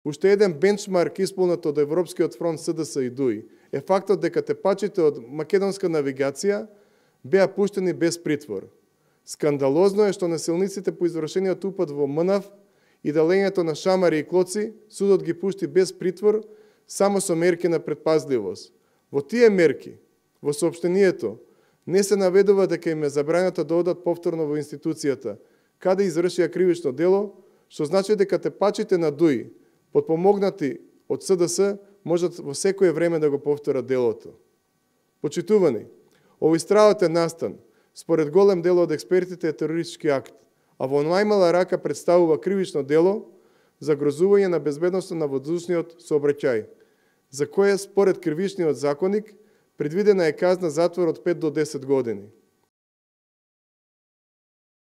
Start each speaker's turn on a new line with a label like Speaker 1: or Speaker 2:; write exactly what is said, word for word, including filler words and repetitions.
Speaker 1: Уште еден бенчмарк исполнет од Европскиот фронт СДС и ДУИ е фактот дека тепачите од македонска навигација беа пуштени без притвор. Скандалозно е што насилниците по извршениот упад во МНАВ и делењето на шамари и клоци, судот ги пушти без притвор само со мерки на предпазливост. Во тие мерки, во соопштението, не се наведува дека им е забрането да одат повторно во институцијата, каде извршија кривично дело, што значи дека тепачите на ДУИ, подпомогнати од СДС, можат во секое време да го повторат делото. Почитувани, овој стравотен настан, според голем дел од експертите е терористички акт, а во најмала рака представува кривично дело за грозување на безбедноста на воздушниот сообраќај, за кое според кривичниот законник предвидена е казна затвор од пет до десет години.